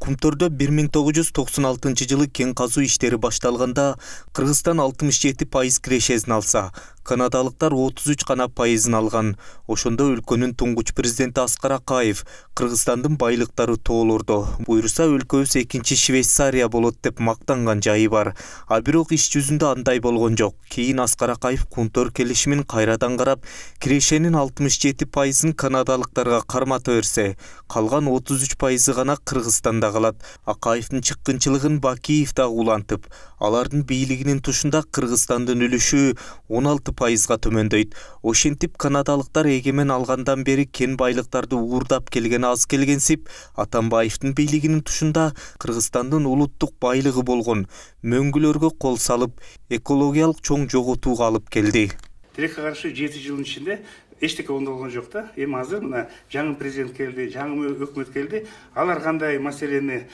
Кумтөрдө 1996 кен казуу иштери башталганда Кыргызстан 67% кирешесин алса, канадалыктар 33 гана пайызын алган. Ошондо өлкөнүн туңгуч президенти Аскар Акаев Кыргызстандын байлыктары тоолордо, буйруса өлкөбүз экинчи Швейцария болот деп мактанган жайы бар. А бирок иш жүзүндө андай болгон жок. Кийин Аскар Акаев Кумтөр келишимин кайрадан карап, кирешенин 67%ын канадалыктарга кармата берсе, калган 33% гана Кыргызстанда калат. Акаевдин чыккынчылыгын Бакиев да улантып, алардын бийлигинин тушунда Кыргызстандын үлүшү 16%га төмөндөйт. Ошентип канадалыктар эгемен алгандан бери кен байлыктарды уурдап келген аз келгенсип, Атамбаевдин бийлигинин тушунда Кыргызстандын улуттук байлыгы болгон мөңгүлөргө кол салып, экологиялык чоң жоготууга алып келди. Тилекке каршы 7 жылдын ичинде эчтеке болгон жок да. Эми азыр мына жаңы президент келди, жаңы өкмөт келди. Алар кандай маселени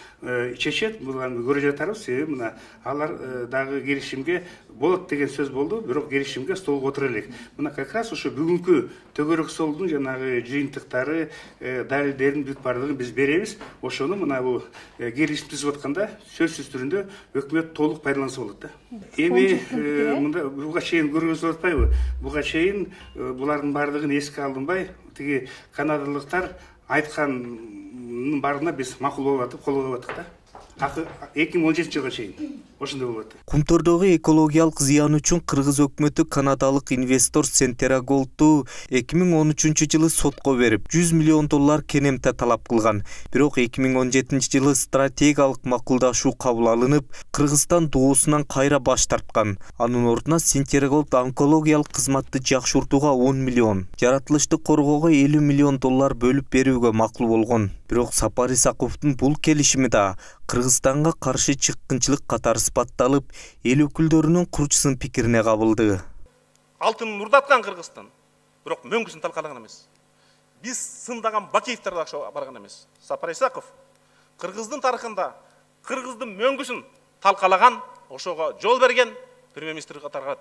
чечет, буларды көрө жатарбыз. Себеби мына алар дагы келишимге болот деген сөз болду, бирок келишимге столго отура элек. Мына как раз ошо бүгүнкү төгөрөк столдун жанагы жыйынтыктары, далилдерин бүт бардыгын биз беребиз. Ошону мына бу келишим түзүп атканда сөзсүз түрүндө өкмөт толук пайдаланса болот да. Эми мында буга чейин көргөзүп атпайбы? Буга чейин булардын бардыгын эске алынбай, тиги канадалыктар айткандын баарына биз макул болуп атып, кол коюп аттык да. 2017 жылга чейин ошондой болуп атты. Кумтөрдөгү экологиялык зыян үчүн кыргыз өкмөтү канадалык инвестор Centerra Gold'у 2013 жылы сотко берип, $100 миллион кенемте талап кылган. Бирок 2017 жылы стратегиялык макулдашуу кабыл алынып, Кыргызстан доосунан кайра баш тарткан. Анын ордуна Centerra Gold онкологиялык кызматты жакшыртууга 10 миллион, жаратылышты коргоого $50 миллион бөлүп берүүгө макул болгон. Бирок Сапар Исаковдун бул келишими да Кыргызстанга каршы чыккынчылык катары сыпатталып, эл өкүлдөрүнүн курчусын пикирине кабылды. Алтынын урдаткан Кыргызстан, бирок мөңгүсүн талкалаган эмес. Биз сындаган Бакиевдер да барган эмес. Сапар Исаков Кыргыздын тарыхында Кыргыздын мөңгүсүн талкалаган, ошого жол берген премьер-министр катары.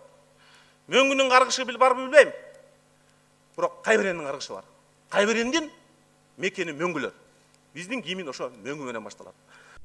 Мөңгүнүн каргышы барбы билбейм. Бирок Кайберендин каргышы бар. Кайберендин мекени мөңгүлөр. Биздин кийимин ошо мөңгү менен башталат.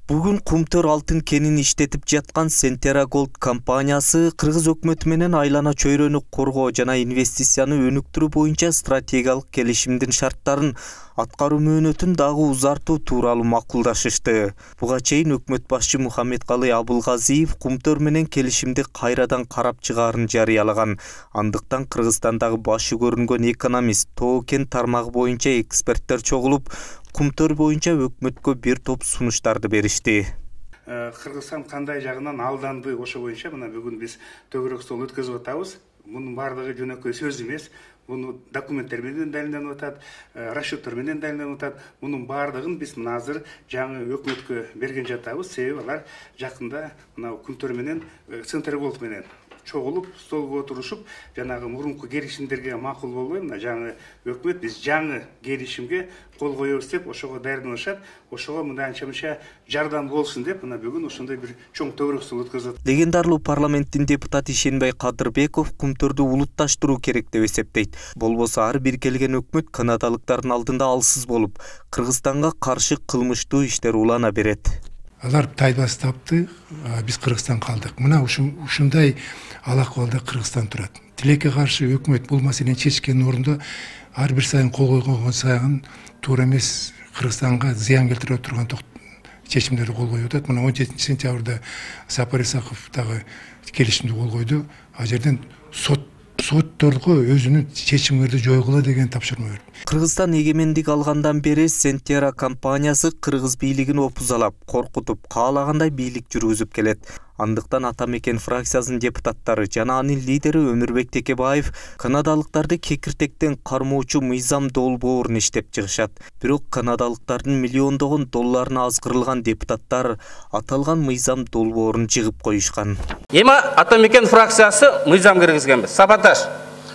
Бүгүн Кумтөр алтын кенин иштетип жаткан Centerra Gold компаниясы кыргыз өкмөтү менен айлана чөйрөнү коргоо жана инвестицияны өнүктүрүү боюнча стратегиялык келишимдин шарттарын аткаруу мөөнөтүн дагы узартуу тууралуу макулдашышты. Буга чейин өкмөт башчы Мухаммедкалый Абылгазиев Кумтөр менен келишимди кайрадан карап чыгаарын жарыялаган. Андыктан Кыргызстандагы башы көрүнгөн экономист, тоо кен тармагы боюнча эксперттер чогулуп, Кумтөр боюнча өкмөткө бир топ сунуштарды беришти. Кыргызстан кандай жагынан алданды, ошо боюнча мына бүгүн биз төгөрөк стол өткөзүп атабыз. Мунун бардыгы жөнөкөй сөз эмес. Муну документтер менен далилденип атат, расчеттер менен далилденип атат. Мунун бардыгын биз мына азыр жаңы өкмөткө берген жатабыз. Себеби алар жакында мына Кумтөр менен Centerra Gold менен чогулуп, столго отурушуп, жанагы мурунку келишимдерге макул болбой, мына жаңы өкмөт биз жаңы келишимге кол коебуз деп ошого даярданышат. Ошого мындай анча-мынча жардам болсун деп мына бүгүн ошондой бир чоң төгөрөк стол өткөзүп. Легендарлуу парламенттин депутаты Ишенбай Кадырбеков Кумтөрдү улутташтыруу керек деп эсептейт. Болбосо ар бир келген өкмөт канадалыктардын алдында алсыз болуп, Кыргызстанга каршы кылмыштуу иштер улана берет. Алар тайбас тапты, биз Кыргызстан калдык. Мына ушундай ал акыбалда Кыргызстан турат. Тилекке каршы өкмөт бул маселени чечкен орунда ар бир сайын кол койгон сайын туура эмес, Кыргызстанга зыян келтире турган чечимдерди кол коюп атат. Мына 17 сентябрда Сапар Исаков дагы келишимди кол койду. А жерден сотторго өзүнүн чечимдерди жойгула деген тапшырма берди. Кыргызстан эгемендик алгандан бери Centerra компаниясы кыргыз бийлигин опузалап, коркутуп, каалагандай бийлик жүргүзүп келет. Андыктан Атамекен фракциясынын депутаттары жана анын лидери Өмүрбек Текебаев канадалыктарды кекиртектен кармоочу мыйзам долбоорун иштеп чыгышат. Бирок канадалыктардын миллиондогон долларына азгырылган депутаттар аталган мыйзам долбоорун жыгып коюшкан. Эми Атамекен фракциясы мыйзам киргизгенбиз. Саботаж.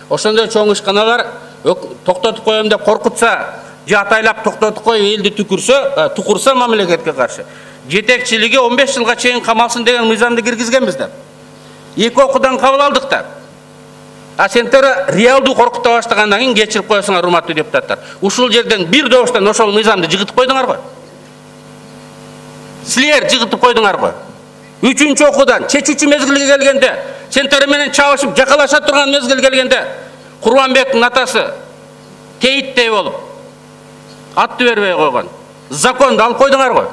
Ошондой чоң ишканалар токтотуп коем деп коркутса, же атайлап токтотуп коюп элди тукурса мамлекетке каршы жетекчилиги 15 жылга чейин камалсын деген мыйзамды киргизгенбиз да. Эки окуудан кабыл алдык да. А Centerra реалдуу коркута баштагандан кийин кечирип коесуңар, урматтуу депутаттар. Ушул жерден бир добуштан ошол мыйзамды жыгытып койдуңар го. силер жыгытып койдуңар го. 3-чү окуудан чечүүчү мезгилге келгенде, сендер менен чабышып жакалаша турган мезгил келгенде, Курманбектин атасы тейиттей болуп атты бербей койгон. Законду алып койдуңар го.